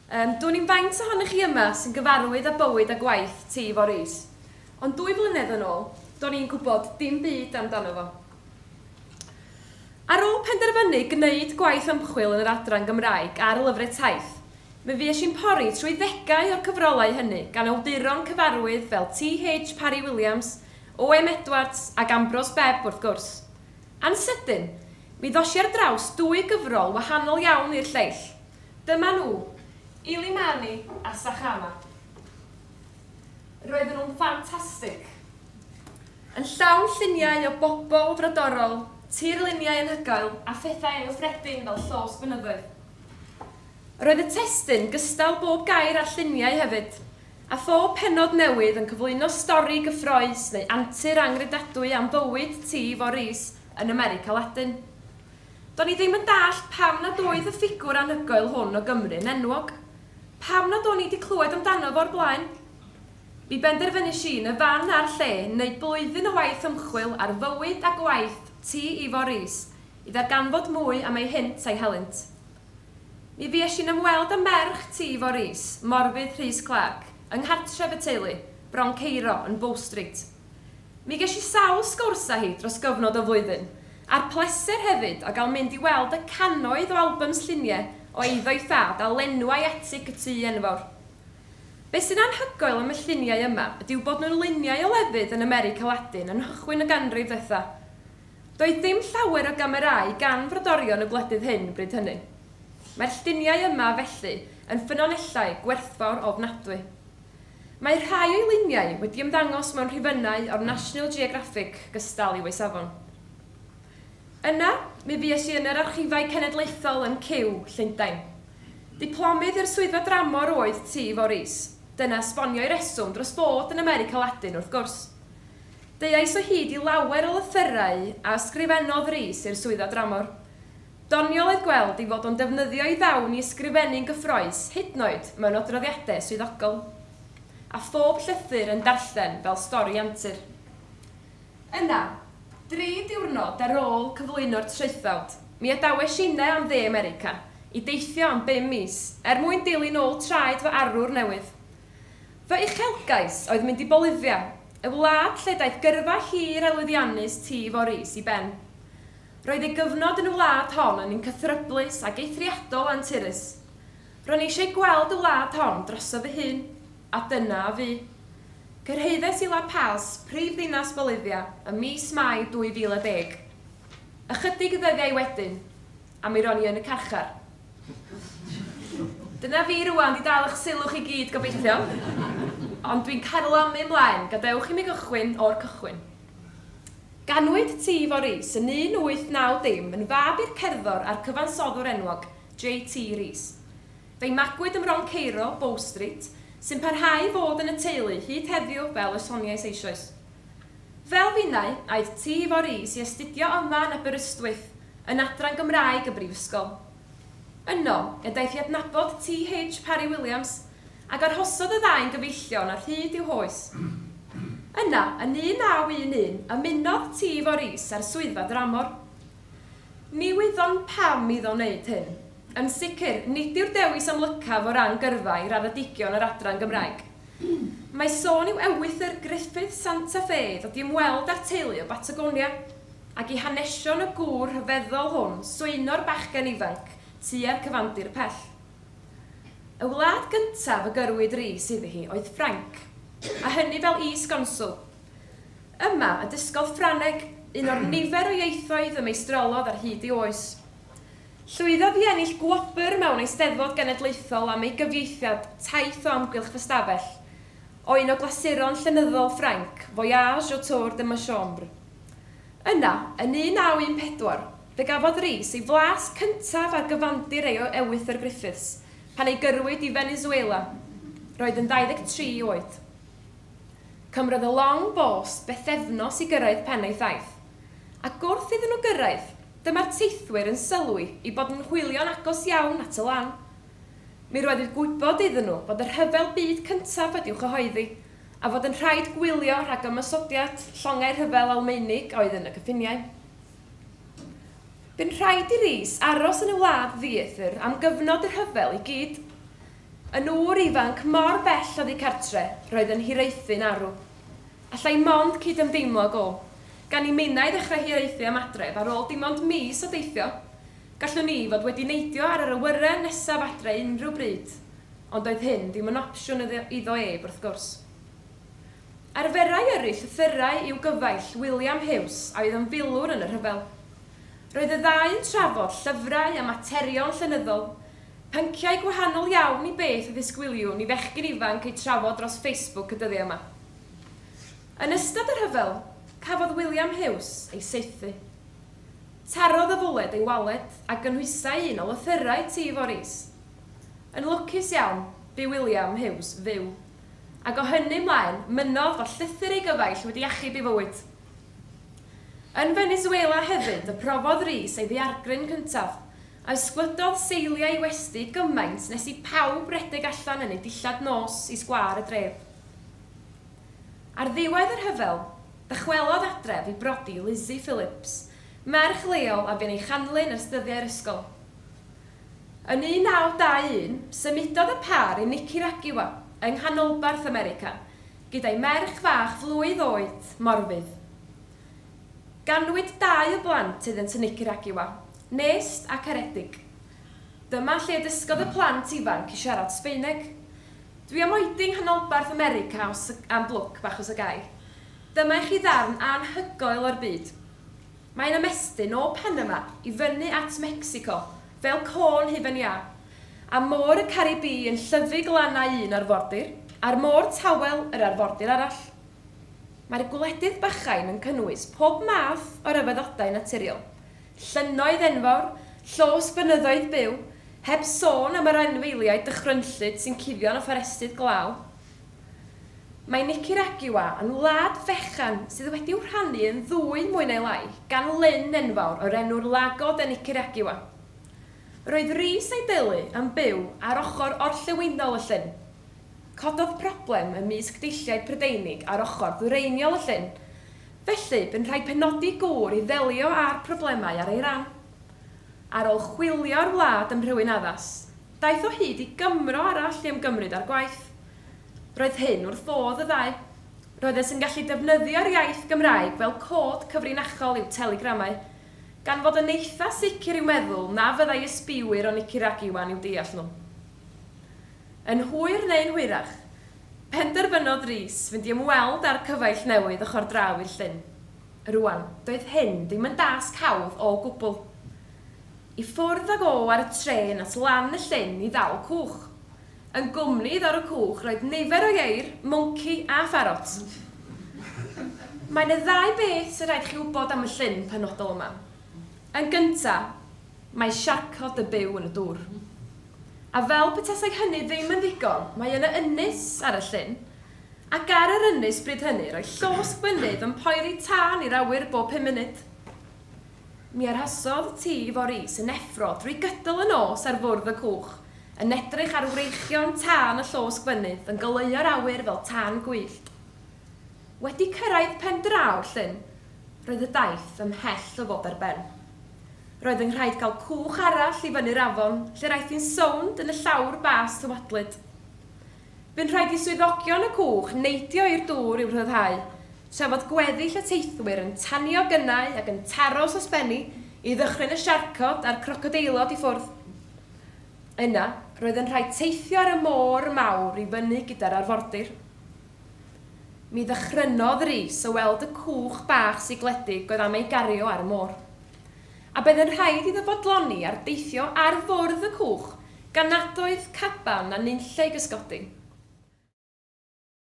Dwn i'm faint ohonoch chi yma sy'n gyfarwydd â bywyd a gwaith T. Ifor Rees, ond 2 flynedd yn ôl, do'n i'n gwybod dim byd amdano fo. Ar ôl penderfynu gwneud gwaith ymchwil yn yr adran Gymraeg ar lyfrau taith, mi fues i'n pori trwy ddegau o'r cyfrolau hynny gan awduron cyfarwydd fel T.H. Parry Williams, O.M. Edwards ac Ambrose Bebb wrth gwrs. A'n sydyn, mi ddos i ar draws 2 gyfrol wahanol iawn i'r lleill. Dyma nhw, Illimani a Sajama. Roedden nhw'n ffantastig. Yn llawn lluniau o bobl frodorol, tirluniau anhygoel a phethau anghyffredin fel llosg fynyddoedd. Roedd y testun gystal bob gair a'r lluniau hefyd, a phob pennod newydd yn cyflwyno stori gyffrous neu antur anghredadwy am fywyd T. Ifor Rees yn America Ladin. Do'n i ddim yn dallt pam nad oedd y ffigwr anhygoel hwn o Gymru yn enwog. Pam nad o'n i wedi clywed amdano fo'r blaen? Mi benderfynais i yn y fan a'r lle wneud blwyddyn o waith ymchwil ar fywyd a gwaith T. Ifor Rees i ddarganfod mwy am ei hynt a'i helynt. Mi fues i'n ymweld â merch T. Ifor Rees, Morfudd Rhys Clark, yng nghartref y teulu, Bron Ceiro yn Bow Street. Mi ges i sawl sgwrs â hi dros gyfnod o flwyddyn, a'r pleser hefyd o gael mynd i weld y cannoedd o albums lluniau o eiddo'i thad a lenwai atig y tŷ enfawr. Be sy'n anhygoel am y lluniau yma ydyw bod nhw'n luniau o lefydd yn America Ladin yn nghychwyn y ganrif ddwetha. Doedd dim llawer o gamerâu gan frodorion y gwledydd hyn bryd hynny. Mae'r lluniau yma felly yn ffynonellau gwerthfawr ofnadwy. Mae rhai o'i luniau wedi ymddangos mewn rhifynnau o'r National Geographic gystal i'w safon. Yna, mi fues i yn yr archifau cenedlaethol yn Kew, Llundain. Diplomydd i'r swyddfa dramor oedd T. Ifor Rees. Dyna esbonio'i reswm dros fod yn America Ladin wrth gwrs. Deuais o hyd i lawer o lythyrau a ysgrifennodd Rees i'r swyddfa dramor. Doniol oedd gweld ei fod o'n defnyddio ei ddawn i ysgrifennu'n gyffrous, hyd yn oed mewn adroddiadau swyddogol. A phob llythyr yn darllen fel stori antur. Yna, 3 diwrnod ar ôl cyflwyno'r traethawd, mi adawes inne am dde America i deithio am 5 mis er mwyn dilyn ôl traed fy arwr newydd. Fy uchelgais oedd mynd i Bolivia, y wlad lle daeth gyrfa hir a lwyddiannus T. Ifor Rees i ben. Roedd ei gyfnod yn y wlad hon yn un cythryblus ac eithriadol anturus. Ro'n i eisiau gweld y wlad hon drosof fy hun, a dyna a fu. Cyrhaeddes i La Paz, prif ddinas Bolivia, ym mis Mai 2010. Ychydig ddyddiau wedyn, a mi ro'n i yn y carchar. Dyna fi rwan, di dal eich sylw chi gyd gobeithio. Ond dwi'n carlamu ymlaen, gadewch i mi gychwyn o'r cychwyn. Ganwyd T. Ifor Rees yn 1890 yn fab i'r cerddor a'r cyfansoddwr enwog, J.T. Rees. Fe'i magwyd ym Mron Ceiro, Bow Street, sy'n parhau i fod yn y teulu hyd heddiw fel y soniais eisoes. Fel finnau, aeth T. Ifor Rees i astudio yma yn Aberystwyth, yn adran Gymraeg y Brifysgol. Yno, y daeth i adnabod T.H. Parry Williams, ac arhosodd y ddau'n gyfeillion ar hyd i'w hoes. Yna, yn 1911, ymunodd T. Ifor Rees â'r swyddfa dramor. Ni wyddom pam iddo wneud hyn. Yn sicr, nid yw'r dewis amlycaf o ran gyrfa i raddedigion yr adran Gymraeg. Mae sôn i'w ewythr Griffith Santa Fe ddod i ymweld â'r teulu o Batagonia, ac i hanesion y gŵr rhyfeddol hwn swyno'r bachgen ifanc tua'r cyfandir pell. Y wlad gyntaf y gyrwyd Rees iddi hi oedd Ffrainc, a hynny fel is-gonswl. Yma y dysgodd Ffrangeg, un o'r nifer o ieithoedd y meistrolodd ar hyd ei oes. Llwyddodd i ennill gwobr mewn eisteddfod genedlaethol am ei gyfieithiad Taith o Amgylch Fy Stafell, o un o glasuron llenyddol Ffrainc, Voyage autour de ma chambre. Yna, yn 1914, fe gafodd Rees ei flas cyntaf ar gyfandir ei ewythr Griffiths, pan ei gyrwyd i Venezuela. Roedd yn 23 oed. Cymrodd y long bost bythefnos i gyrraedd pen ei thaith. Ac wrth iddyn nhw gyrraedd, dyma'r teithwyr yn sylwi i bod yn hwylio'n agos iawn at y lan. Mi roedd gwybod iddyn nhw bod y rhyfel byd cyntaf wedi'w chyhoeddi, a fod yn rhaid gwylio rhag ymosodiad llongau rhyfel Almaenig oedd yn y cyffiniau. Bu'n rhaid i Rees aros yn y wlad ddieithr am gyfnod y rhyfel i gyd. Yn ŵr ifanc mor bell oddi cartre, roedd yn hiraethu'n arw. Allai mond cydymdeimlo ag o. Gan i minnau ddechrau hiraethu am adref ar ôl dim ond mis o deithio, gallwn i fod wedi neidio ar yr awyren nesaf adre unrhyw bryd, ond doedd hyn ddim yn opsiwn iddo ef, wrth gwrs. Arferai yrru llythyrau i'w gyfaill, William Hughes, a oedd yn filwr yn y rhyfel. Roedd y ddau yn trafod llyfrau a materion llenyddol, pynciau gwahanol iawn i beth a ddisgwyliwn i fechgyn ifanc eu trafod dros Facebook y dyddiau yma. Yn ystod y rhyfel, cafodd William Hughes ei saethu. Tarodd y fwled ei waled a gynhwysai un o lythyrau T. Rees. Yn lwcus iawn, bu William Hughes fyw. Ac o hynny mlaen, mynnodd fod llythyr ei gyfaill wedi achub ei fywyd. Yn Venezuela hefyd y profodd Rees ei ddaeargryn cyntaf, a ysgwydodd seiliau ei westy gymaint nes i pawb redeg allan yn ei dillad nos i sgwâr y dref. Ar ddiwedd yr rhyfel, dychwelodd adref i brodi Lizzie Phillips, merch leol a fu'n ei chanlyn ers dyddiau'r ysgol. Yn 1921, symudodd y pâr i Nicaragua yng nghanolbarth America, gyda'i merch fach flwydd oed, Morfydd. Ganwyd dau o blant iddynt yn Nicaragua, Nest a Caredig. Dyma lle dysgodd y plant ifanc i siarad Sbaeneg. Dwi am oedi yng nghanolbarth America os, am blwc bach os y gai. Dyma i chi ddarn anhygoel o'r byd. Mae'n ymestyn o Panama i fyny at Mexico, fel côn hufen iâ, a môr y Caribi yn llyfu glannau un arfordir, a'r môr tawel yr arfordir arall. Mae'r gwledydd bychain yn cynnwys pob math o ryfeddodau naturiol. Llynnoedd enfawr, llosg fynyddoedd byw, heb sôn am yr anifeiliaid dychrynllyd sy'n cuddio yn y fforestydd glaw. Mae Nicaragua yn wlad fechan sydd wedi'w rhannu yn ddwy mwy neu lai gan lyn enfawr o'r enw'r Lago de Nicaragua. Roedd Rees a'i deulu yn byw ar ochr orllewinol y llyn. Cododd problem ymysg deilliaid Prydeinig ar ochr ddwyreiniol y llyn. Felly, bu'n rhaid penodi gŵr i ddelio â'r problemau ar ei ran. Ar ôl chwilio'r wlad am rhywun addas, daeth o hyd i Gymro arall i ymgymryd â'r gwaith. Roedd hyn wrth fodd y ddau. Roeddent yn gallu defnyddio'r iaith Gymraeg fel cod cyfrinachol i'w telegramau, gan fod yn eitha sicr i'w meddwl na fyddai ysbiwyr o Nicaragua'n i'w deall nhw. Yn hwyr neu'n hwyrach, penderfynodd Rees fynd i ymweld â'r cyfaill newydd ochr draw i'r llyn. Rwan, doedd hyn ddim yn dasg hawdd o gwbl. I ffwrdd ag o ar y trên at lan y llyn i ddal cwch. Yn gwmni iddo ar y cwch roedd nifer o ieir, mwnci a pharot. Mae yna ddau beth sy'n rhaid chi wybod am y llyn penodol yma. Yn gynta, mae siarcod y byw yn y dŵr. A fel petasai hynny ddim yn ddigon, mae yna ynys ar y llyn, ac ar yr ynys bryd hynny roedd llosg fynydd yn poeri tân i'r awyr bob 5 munud. Mi arhosodd T. Rees yn effro drwy gydol y nos ar fwrdd y cwch, yn edrych ar wreichion tân y llosg fynydd yn goleuo'r awyr fel tân gwyllt. Wedi cyrraedd pen draw'r llyn, roedd y daith ymhell o fod ar ben. Roedd yn rhaid cael cwch arall i fyny'r afon, lle aeth hi'n sownd yn y llawr bas tywodlyd. Bu'n rhaid i swyddogion y cwch neidio i'r dŵr i'w rhyddhau, tra fod gweddill y teithwyr yn tanio gynnau ac yn taro sosbenni i ddychryn y siarcod a'r crocodeilod i ffwrdd. Yna, roedd yn rhaid teithio ar y môr mawr i fyny gyda'r arfordir. Mi ddychrynodd Rees o weld y cwch bach sigledig oedd am ei gario ar y môr. A bydd yn rhaid iddo fodloni ar deithio ar fwrdd y cwch gan nad oedd caban a nunlle i gysgodi.